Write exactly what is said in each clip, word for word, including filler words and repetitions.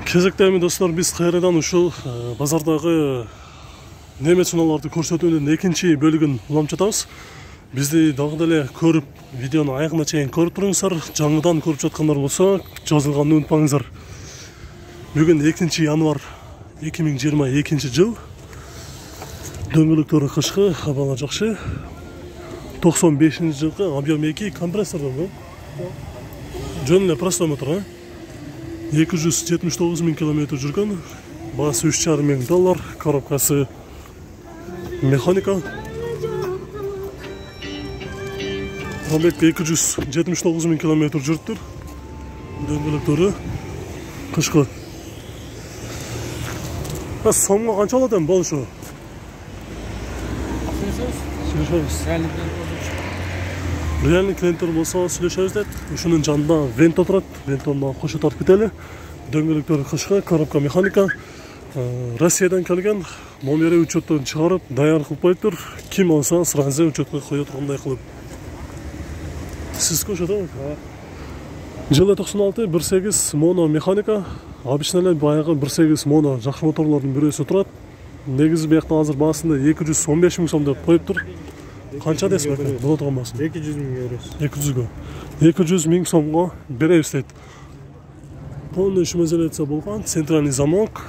Кезектеми достор, биз кайрадан ушул базардагы немец унааларды көрсөтүүнүн экинчи бөлүгүн улам жатабыз. Бизди дагы деле көрүп, видеону аягына чейин көрүп туруңуздар. Жаңыдан көрүп жаткандар болсо, жазылганды унутпаңыздар. Бүгүн экинчи январь эки миң жыйырма экинчи жыл. Дөңгөлөктөрү кышкы, абалы жакшы. токсон бешинчи жылкы объем эки компрессордон жөн эле простой мотор. эки жүз жетимиш тогуз миң километр жүргөн, баасы үч жарым миң доллар, коробкасы механика. Пробег эки жүз жетимиш тогуз миң километр жүрүптүр. Дөңгөлөктөрү кышкы. А сомго канча болот эми болушу? Реальный клиенттер болсо сүйлөшөбүз дейт. Ушунун жанында венто турат, вентону кошо тартып кетели. Дөңгөлөктөр кышкы, коробка механика. Россиядан келген, номери учеттон чыгарып, даяр кылып коюптур. Ким болсо сразу учетко кое тургандай кылып. Сиз кошодо? Жылы токсон алты бир сегиз моно механика. Обычно эле баягы бир сегиз моно жакшы моторлордун бирөөсү турат. Негизи биякта азыр баасында эки жүз он беш миң сом деп коюптур. Канча десем экен? Боло турган баасын. эки жүз миң евро. эки жүзгө. эки жүз миң сомго беребиз дейт. Полный шумоизоляция болгон, центральный замок.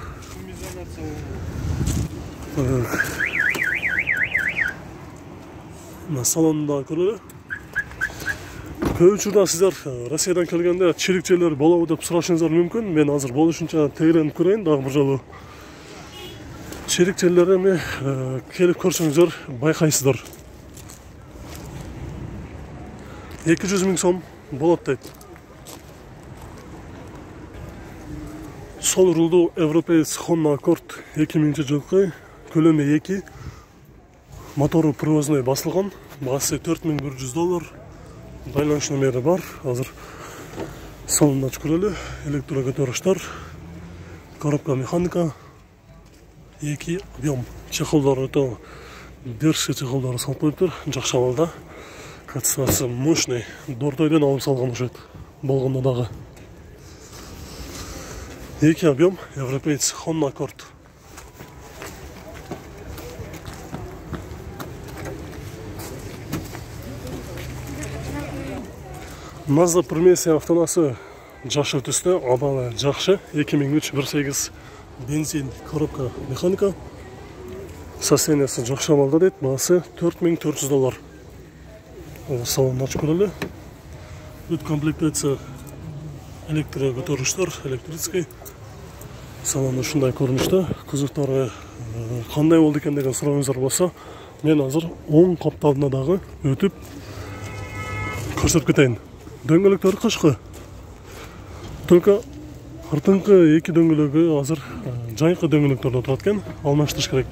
На салонда көрөлү. Көп учурда сиздер Россиядан келгенде чирикчелер болобу деп сурашыңыздар мүмкүн. Мен азыр болушунча тегеренип көрөйүн дагы бир жолу. Чирикчелер эми келип көрсөңүздөр байкайсыздар. эки жүз миң сом болот дейт. Сол рулдуу европеец Honda Accord эки миңинчи жылкы, көлөмү эки, мотору привозной басылган, баасы төрт миң бир жүз доллар. Байланыш номери бар. Азыр салонду ачып көрөлү. Электрокөтөрүштөр, коробка механика, эки объем. Чехолдору то держи чехолдору салып коюптур, жакшы абалда. Катсасы мощный, дортойдон алып салган окшойт. Болгондо дагы. эки объем, европеец Honda Accord. Mazda Primessia автонасы жакшы түстө, абалы жакшы. эки миң үч бир сегиз бензин, коробка механика. Состояниясы жакшы абалда дейт, баасы төрт миң төрт жүз доллар. Салонду ачып көрөлү. Бүт комплектация электрокөтөрүштөр, электрический. Салон ушундай көрүнүштө. Кузовтору кандай болду экен деген сурооңуздар болсо, мен азыр оң капталына дагы өтүп көрсөтүп кетейин. Дөңгөлөктөр кышкы. Только артыңкы эки дөңгөлөгү азыр жайкы дөңгөлөктөрдөн турат экен, алмаштырыш керек.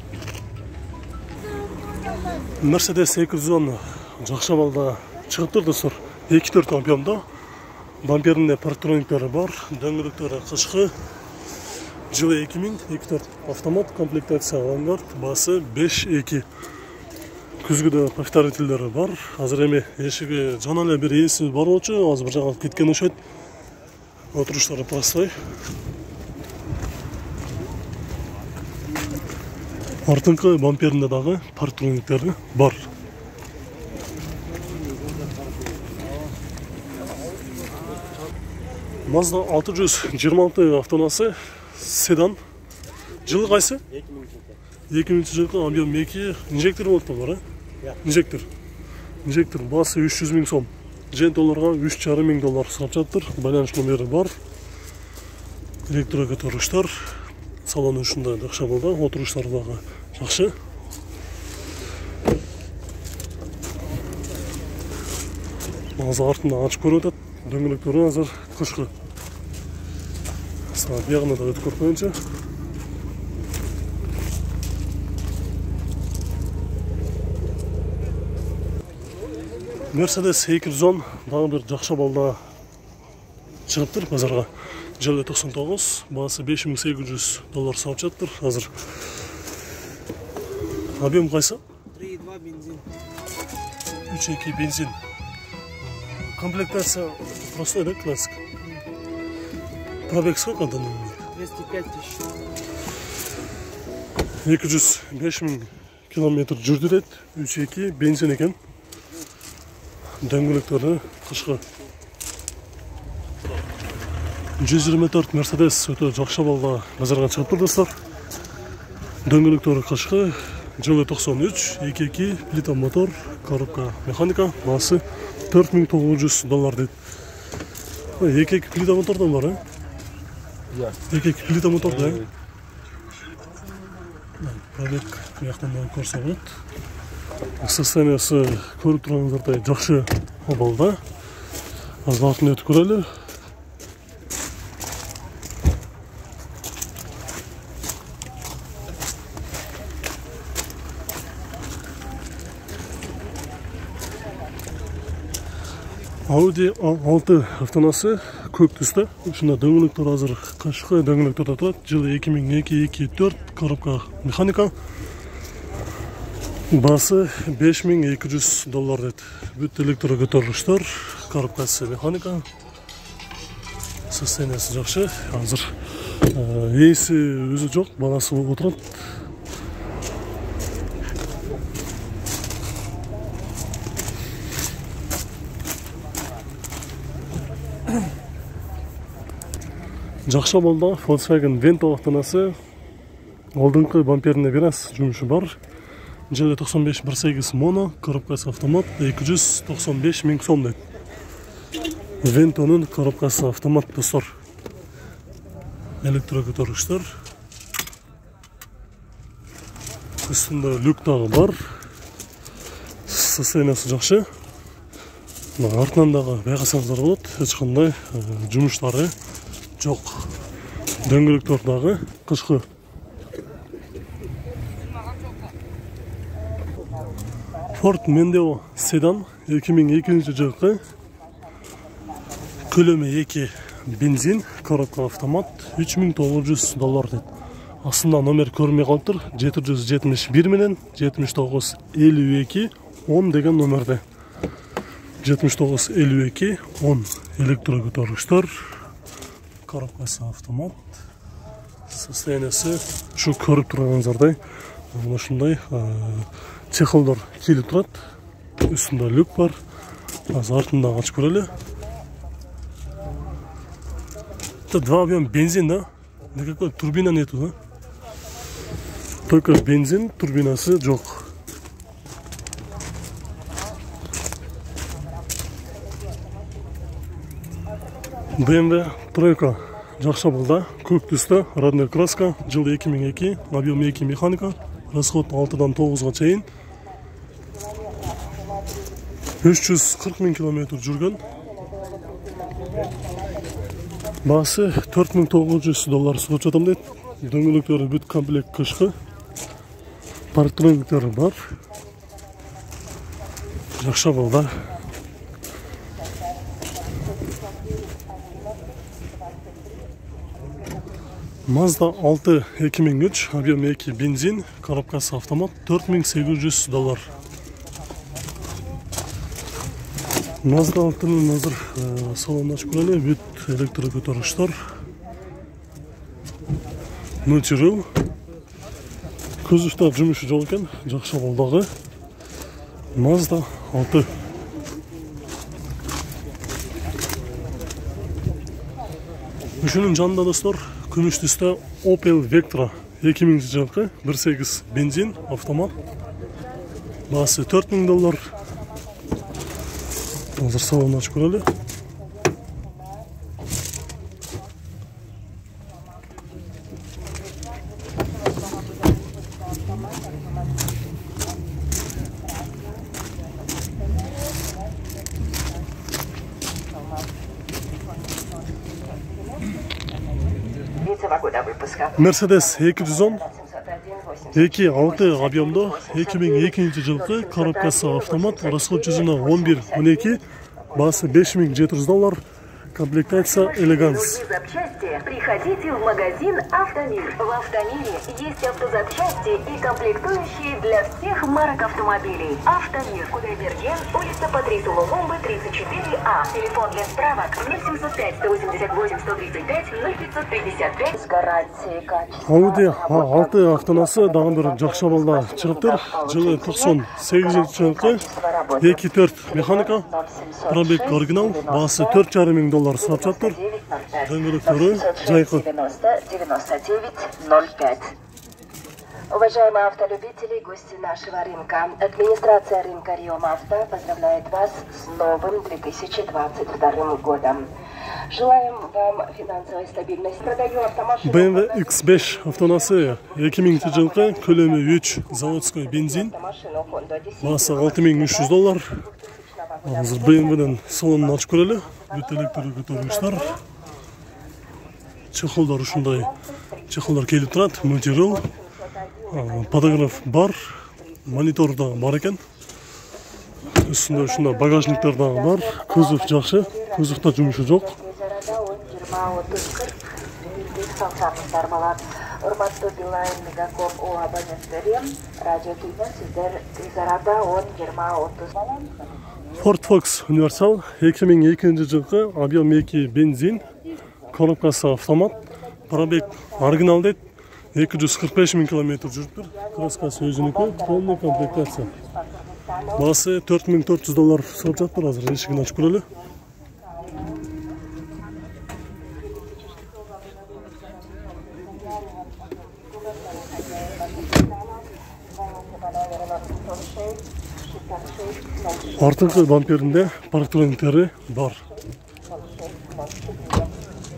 Mercedes эки жүз он жакшы абалда чыгыптыр достор. эки төрт объемдо. Бамперинде парктрониктери бар, дөңгөлөктөрү кышкы. Жылы эки миң, эки төрт автомат, комплектация авангард, баасы беш эки. Күзгүдө повторительдери бар. Азыр эми эшиги жана эле бир ээси бар болчу, азыр бир жака кеткен окшойт. Отуруштары простой. Артыңкы бамперинде дагы парктрониктери бар. Mazda алты жүз жыйырма алты автонасы седан. Жылы кайсы? эки миңинчи жылкы объем эки, инжектор болуп бар, э? Инжектор. Инжектор баасы үч жүз миң сом. Жентолорго үч жарым миң доллар сурап жатыр. Байланыш номери бар. Электрокөтөрүштөр. Салону ушундай жакшы абалда, отуруштары дагы жакшы. Азыр артында ачып көрүп атат. Дөңгөлөктөрү азыр кышкы. Саат ягына да өтүп көрүп коеюнчу. Mercedes эки жүз он дагы бир жакшы абалда чыгыптыр базарга. Жылы токсон тогуз, баасы беш миң сегиз жүз доллар сатып жатыр азыр. Объем кайсы? три и два бензин. үч эки бензин. Комплектация простой, да, классик? Пробег сколько данный? двести пять тысяч. эки жүз беш миң километр жүрдү дейт. үч эки бензин экен. Дөңгөлөктөрү кышкы. жүз жыйырма төрт Mercedes өтө жакшы абалда базарга чыгыптыр достор. Дөңгөлөктөрү кышкы, жылы токсон үч, эки эки плита мотор, коробка механика, баасы төрт миң тогуз жүз доллар дейт. эки эки плита мотордон бар, э? Иә. эки эки плита мотор да. Проверка жактан да көрсө болот. Состояниясы көрүп турганыңыздардай жакшы абалда. Азбатын өтүп көрөлү. Audi A алты автонасы көк түстө. Ушунда дөңгөлөктөр азыр кышкы дөңгөлөктөрдө турат. Жылы эки миң эки эки төрт, коробка механика. Баасы беш миң эки жүз доллар дейт. Бүт электро көтөрүлүштөр, коробкасы механика. Состояниясы жакшы. Азыр ээси өзү жок, баласы отурат. Жакшы абалда Volkswagen Vento автонасы. Алдыңкы бамперине бир аз жумушу бар. Жылы токсон беш бир сегиз моно, коробкасы автомат, эки жүз токсон беш миң сом дейт. Vento'нун коробкасы автомат достор. Электро көтөргүчтөр. Үстүндө люк дагы бар. Состояниясы жакшы. Артынан дагы байкасаңыздар болот. Эч кандай жумуштары жок. Дөңгөлөктөр дагы кышкы. Ford Mondeo седан эки миң экинчи жылкы. Көлөмү эки бензин, коробка автомат, үч миң тогуз жүз доллар дейт. Астында номер көрмөй калыптыр. жети жүз жетимиш бир менен жетимиш тогуз элүү эки он деген номерде. жетимиш тогуз элүү эки он электро көтөргүчтөр. Коробкасы автомат. Состояниясы ушу көрүп турганыңыздардай ушундай чехолдор кийлип турат. Үстүндө люк бар. Азыр артында ачып көрөлү. Это два объем бензин, да? Никакой турбина нету, да? Только бензин, турбинасы жок. бэ эм вэ тройка жакшы абалда, көк түстө, родной краска, жылы эки миң эки, объем эки механика, расход алтыдан тогузга чейин. үч жүз кырк миң километр жүргөн. Баасы төрт миң тогуз жүз доллар сутуп жатам дейт. Дөңгөлөктөрү бүт комплект кышкы. Парктрониктери бар. Жакшы абалда. Mazda алты эки миң үч, объем эки бензин, коробкасы автомат, төрт миң сегиз жүз доллар. Mazda алтынын азыр салонун ачып көрөлү, бүт электро көтөргүчтөр. Multi-Rule. Көзүштө жумушу жок экен, жакшы абалдагы Mazda алты. Ушунун жанында достор, күмүш түстө Opel Vectra эки миңинчи жылкы бир сегиз бензин, автомат. Баасы төрт миң доллар. Азыр салонун ачып көрөлү. Mercedes эки жүз он эки алты объемдо эки миң экинчи жылкы, коробкасы автомат, расход жүзүнө он бир он эки, баасы беш миң жети жүз доллар. комплектация элеганс. Другие запчасти приходите в магазин «Автомир». В «Автомире» есть автозапчасти и комплектующие для всех марок автомобилей. «Автомир», Кудайберген, улица Патрису Лумумбы, тридцать четыре А. Телефон для справок ноль семьсот пять сто восемьдесят восемь сто тридцать пять ноль пятьсот пятьдесят пять. С гарантией качества. Audi алты автонасы дагы бир жакшы абалда чыгыптыр. Жылы токсон сегизинчи жылкы эки төрт механика, пробег оригинал, баасы төрт жарым миң доллар сатып жатыр. Дөңгөлөктөрү жайкы. девяносто девять ноль пять. Уважаемые автолюбители, гости нашего рынка, администрация рынка Риом Авто поздравляет вас с новым две тысячи двадцать вторым годом. Желаем вам финансовой стабильности. Продаю автомашину. бэ эм вэ икс беш автонасы эки миңинчи жылкы, көлөмү үч, заводской бензин, баасы алты миң үч жүз доллар. Азыр бэ эм вэден салонун ачып көрөлү. Бүт электр көтөргүчтөр. Чехолдор ушундай чехолдор келип турат, мультирул. Подогрев бар, монитор да бар экен. Үстүндө ушундай багажниктер дагы бар. Кузов жакшы, кузовдо жумушу жок. Урматтуу Билайн Мегаком о абоненттери, радио түйдөн сиздер Изарада он жыйырма отуз. Ford Focus универсал эки миң экинчи жылкы, объем эки бензин, коробкасы автомат, пробег оригинал дейт, эки жүз кырк беш миң километр жүрүптүр. Краскасы өзүнүкү, полный комплектация. Баасы төрт миң төрт жүз доллар сатып жатыр. Азыр эшигин ачып көрөлү. Артыңкы бамперинде парктрониктери бар.